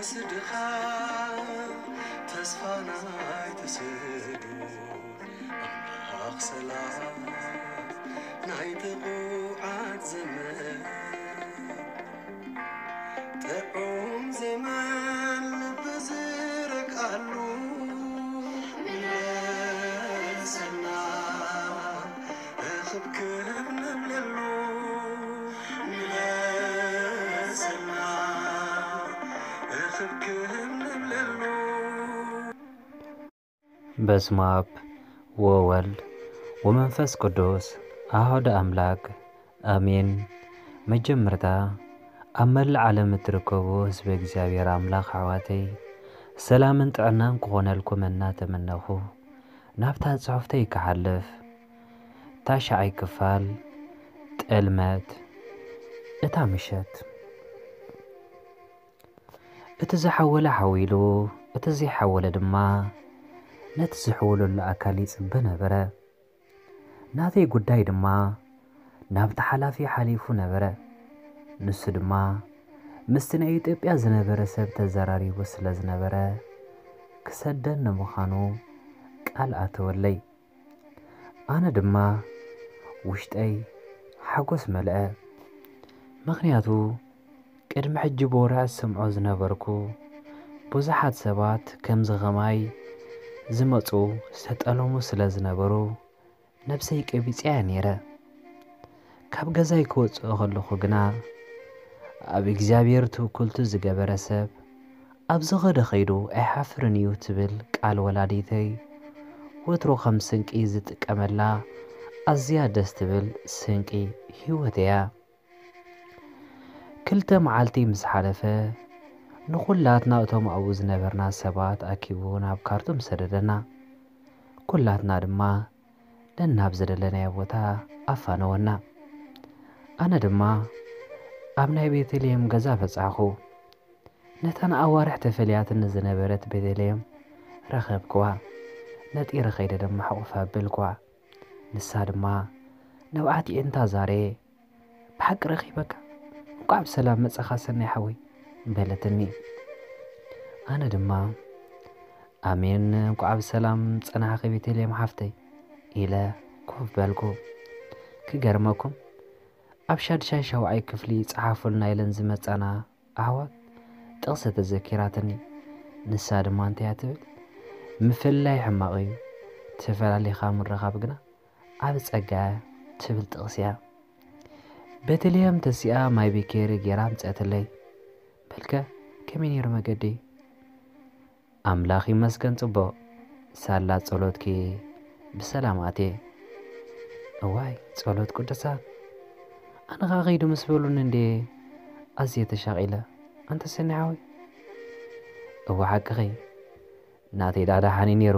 ስድኻ ተስፋ ናይ ተስእሉ ኣምላኽ ሰላም ናይ ጥዑዓት ዘመን ጥዑም ዜማን ልቢ ዝረግኣሉ ምለሰና እኽብክብ ንብለሉ ምለሰና እኽብክብ ንብለሉ። በስመ አብ ወወልድ ወመንፈስ ቅዱስ አሐዱ አምላክ አሜን። መጀመርታ ኣብ መላእ ዓለም እትርከቡ ህዝበ እግዚኣብሔር ኣምላኽ ኣሕዋተይ ሰላምን ጥዕናን ክኾነልኩም እናተመነኹ ናብታ ጽሑፍተይ ክሓልፍ። ታሽዓይ ክፋል ጥልመት እታ ምሸት። እቲ ዝሓወለ ሓዊሉ፣ እቲ ዘይሓወለ ድማ ነቲ ዝሕውለሉ ኣካል ይጽበ ነበረ። ናተይ ጉዳይ ድማ ናብቲ ሓላፊ ሓሊፉ ነበረ። ንሱ ድማ ምስቲ ናይ ኢትዮጵያ ዝነበረ ሰብ ተዘራሪቡ ስለ ዝነበረ ክሰደኒ ምዃኑ ቃል ኣተወለይ። ኣነ ድማ ውሽጠይ ሓጎስ መልአ። ምኽንያቱ ቅድሚ ሕጂ ብወረ ዝሰምዖ ዝነበርኩ ብዙሓት ሰባት ከምዚ ኸማይ ዝመጹ ዝተጠለሙ ስለ ዝነበሩ ነብሰይ ቀቢጸያ ነይረ። ካብ ገዛይ ክወጽእ ከለኹ ግና ኣብ እግዚኣብሔር ትውክልቱ ዝገበረ ሰብ ኣብ ዝኸደ ኸይዱ ኣይሓፍርን እዩ ትብል ቃል ወላዲተይ ወትሩ ከም ስንቂ ዝጥቀመላ ኣዝያ ደስ ትብል ስንቂ ህይወት እያ። ክልተ መዓልቲ ምስ ሓለፈ ንኹላትና እቶም ኣብኡ ዝነበርና ሰባት ኣኪቡ ናብ ካርቱም ሰደደና። ኩላትና ድማ ነናብ ዝደለናዮ ቦታ ኣፋነወና። ኣነ ድማ ኣብ ናይ ቤተልሔም ገዛ በጻሕኹ። ነታ ንኣዋርሕ ተፈልያትኒ ዝነበረት ቤተልሔም ረኸብክዋ። ነጢረ ኸይደ ድማ ሕቑፍ ኣበልክዋ። ንሳ ድማ ንብዓት የእንታ ዛሬ ብሓቂ ረኺበካ፣ እንቋዕ ብሰላም መጻኻ ሰናይ ሓወይ በለትኒ። ኣነ ድማ ኣሜን እንቋዕ ብሰላም ጸናሕኺ ቤተልሔም ሓፍተይ ኢለ ኮፍ በልኩ። ክገርመኩም ኣብ ሻድሻይ ሻውዓይ ክፍሊ ጸሓፉልና ኢለን ዝመጻና ኣሕዋት ጥቕሲ ተዘኪራትኒ። ንሳ ድማ እንታይ እያ ትብል? ምፍልላይ ሕማቕ እዩ፣ ተፈላሊኻ ምርኻብ ግና ዓቢ ጸጋ እያ ትብል ጥቕሲ እያ። ቤተልሔም ተሲኣ ማይ ቢኬሪ ጌራ ኣምጸእትለይ። በልከ ከመይ ነይሩ መገዲ? ኣምላኽ ይመስገን ጽቡቕ። ሳላ ጸሎትኪ ብሰላም ኣትየ። እዋይ ጸሎት ቅዱሳን ኣነ ኸኣ ኸይዱ ምስ በሉኒ እንዴ ኣዝየ ተሻቒለ። ኣንተ ሰኒ ሓወይ እወ ሓቅኺ ናተይ ደኣ ደሓን እዩ ነይሩ።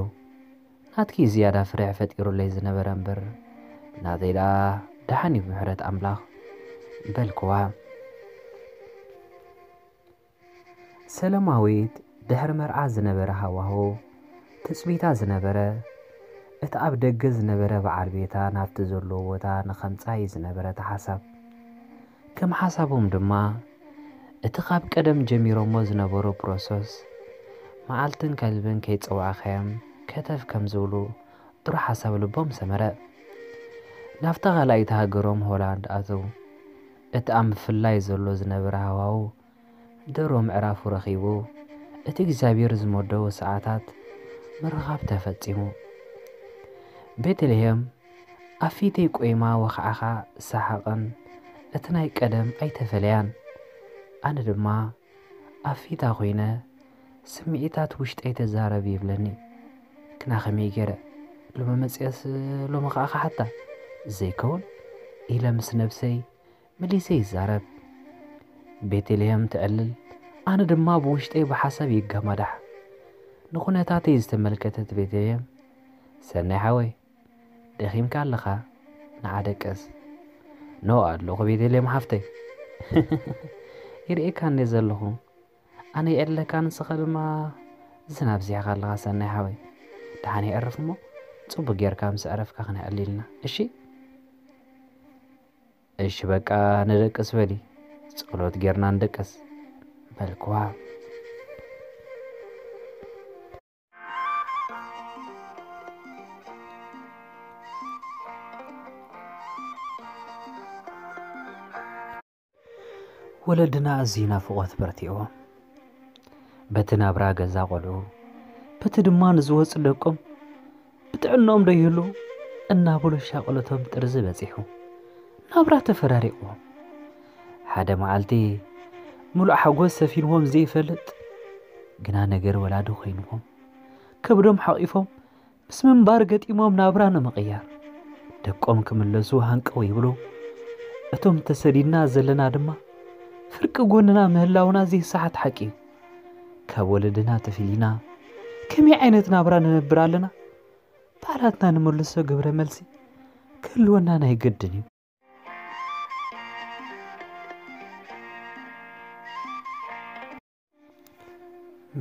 ናትኪ ዝያዳ ፍርሒ ፈጢሩለይ ዝነበረ እምበር ናተይ ደኣ ደሓን እዩ ብምሕረት ኣምላኽ በልክዋ። ሰለማዊት ድሕሪ መርዓ ዝነበረ ሃዋህው ትጽቢታ ዝነበረ እቲ ኣብ ደገ ዝነበረ በዓል ቤታ ናብቲ ዘለዎ ቦታ ንኸምጽኣ እዩ ዝነበረ እታ ሓሳብ። ከም ሓሳቦም ድማ እቲ ካብ ቀደም ጀሚሮሞ ዝነበሩ ፕሮሰስ መዓልትን ከልብን ከይጸዋዕካዮም ከተፍ ከም ዝብሉ ጥሩ ሓሳብ ልቦም ሰመረ። ናብታ ካልኣይቲ ሃገሮም ሆላንድ ኣተዉ። እቲ ኣብ ምፍላይ ዘሎ ዝነበረ ሃዋህው ድሮ ምዕራፉ ረኺቡ እቲ እግዚኣብሔር ዝመደቦ ሰዓታት ምርኻብ ተፈጺሙ። ቤተልሔም ኣብ ፊተይ ቆይማ ወኻዕኻ ሰሓቕን እቲ ናይ ቀደም ኣይተፈለያን። ኣነ ድማ ኣብ ፊታ ኮይነ ስምዒታት ውሽጠይ ተዛረብ ይብለኒ። ግና ከመይ ገይረ ሎሚ መጽየስ ሎሚ ኸዓ ክሓታ ዘይከውን ኢለ ምስ ነብሰይ መሊሰ ይዛረብ። ቤተልሔም ትዕልል፣ ኣነ ድማ ብውሽጠይ ብሓሳብ ይገማዳሕ። ንኹነታተይ ዝተመልከተት ቤተልሔም ሰናይ ሓወይ ደኺምካ ኣለኻ ንዓ ደቅስ። ኖ ኣለኹ ቤተልሔም ሓፍተይ። ይርእየካ እንደ ዘለኹ ኣነ ይዕልለካ ንስኻ ድማ ዝናብ ዚሕኻ ኣለኻ ሰናይ ሓወይ። ደሓን የዕርፍ እሞ ጽቡቅ ጌርካ ምስ ዕረፍካ ክነዕሊ ኢልና እሺ። እሺ በቃ ንደቅስ በሊ ጸሎት ጌርና ንደቅስ በልክዋ። ወለድና ኣዝዩ ናፍቖት በርቲዕዎም፣ በቲ ናብራ ገዛ ቆልዑ፣ በቲ ድማ ንዝወፁ ደቆም ብጥዕኖም ዶ ይህሉ እናበሉ ሻቕሎቶም ጥርዚ በፂሑ፣ ናብራ ተፈራሪቕዎም። ሓደ መዓልቲ ምሉእ ሓጎስ ሰፊንዎም ዘይፈልጥ ግና ነገር ወላዲ ኮይንዎም፣ ከብዶም ሓቒፎም ምስ ምንባር ገጢሞም ናብራ ንምቕያር ደቆም ክምለሱ ሃንቀው ይብሉ። እቶም ተሰዲድና ዘለና ድማ ፍርቂ ጎንና ምህላውና ዘይሰሓት ሓቂ እዩ። ካብ ወለድና ተፊሊና ከመይ ዓይነት ናብራ ንነብር ኣለና? ባዕላትና ንመልሶ ግብረ መልሲ ክህልወና ናይ ግድን እዩ።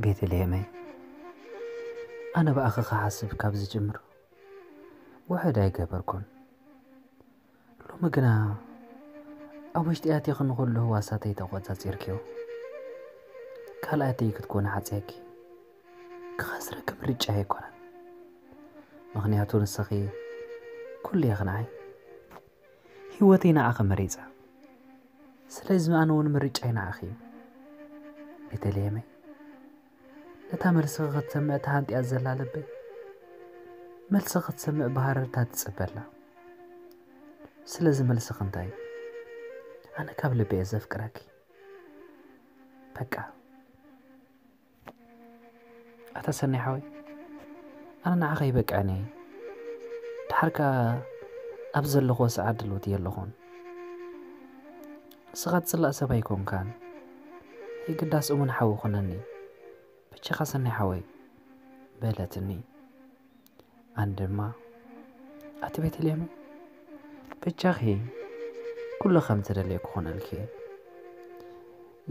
ቤተልሔመይ፣ ኣነ ብኣኺ ክሓስብ ካብ ዝጅምር ውሕድ ኣይገበርኩን። ሎሚ ግና ኣብ ውሽጢ ኣቲኺ ንኹሉ ህዋሳተይ ተቖጻጺርክዮ። ካልኣተይ ክትኮኒ ሓጽየኪ። ክኸስረኪ ምርጫ ኣይኮነን። ምኽንያቱ ንስኺ ኩሉ ኢኺ ንዓይ። ህይወተይ ንዓኺ መሪጻ። ስለዚ ኣነ እውን ምርጫይ ንዓኺ እዩ። ቤተልሔመይ፣ ነታ መልስኺ ክትሰምዕ ተሃንጥያ ዘላ ልበይ፣ መልስኺ ክትሰምዕ ብሃረርታ ትጽበ ኣላ። ስለዚ መልስኺ እንታይ እዩ? ኣነ ካብ ልቢ እየ ዘፍቅረኪ። በቃ። ኣታ ሰናይ ሓወይ፣ ኣነ ንዓኻ ይበቅዐኒ እየ። ደሓር ከኣ ኣብ ዘለኹዎ ሰዓት ድልውቲ የለኹን። ንስኻ ትጽላእ ሰብ ኣይኮንካን። የግዳስ እሙን ሓው ኩነኒ። በጃኻ ሰናይ ሓወይ፣ በለትኒ። ኣነ ድማ፣ ኣቲ ቤተልሔም፣ በጃኺ ኩሉ ከም ትደልየ ክኾነልኪ እየ።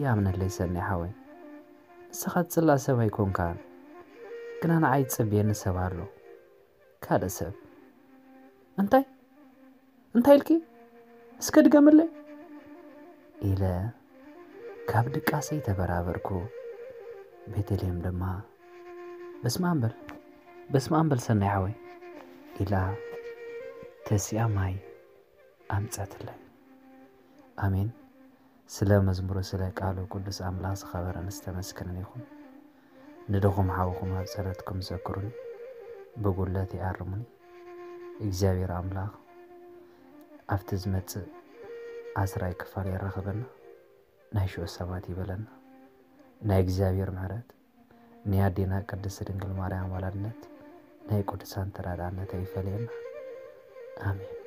ይኣምነለይ ሰናይ ሓወይ፣ ንስኻ ትጽላእ ሰብ ኣይኮንካን፣ ግና ንዓይ ዝጽበየኒ ሰብ ኣሎ። ካልእ ሰብ። እንታይ? እንታይ ኢልኪ? እስከ ድገምለይ? ኢለ ካብ ድቃሰይ ተበራበርኩ። ቤተልሔም ድማ፣ በስመ ኣብ በል፣ በስመ ኣብ በል ሰናይ ሓወይ፣ ኢላ ተሲኣ ማይ ኣምጸትለይ። ኣሜን። ስለ መዝሙሩ፣ ስለ ቃሉ ቅዱስ ኣምላኽ ዝኸበረን ዝተመስገነን ይኹን። ንድኹም ሓውኹም ኣብ ጸሎትኩም ዘክሩኒ፣ ብጉድለተይ ኣርሙኒ። እግዚኣብሔር ኣምላኽ ኣብቲ ዝመጽእ ዓስራይ ክፋል የራኽበና፣ ናይ ሽዑ ሰባት ይበለና። ናይ እግዚኣብሔር ምሕረት፣ ናይ ኣዴና ቅድስት ድንግል ማርያም ኣማላድነት፣ ናይ ቅዱሳን ተራዳእነት ኣይፈለየና። ኣሜን።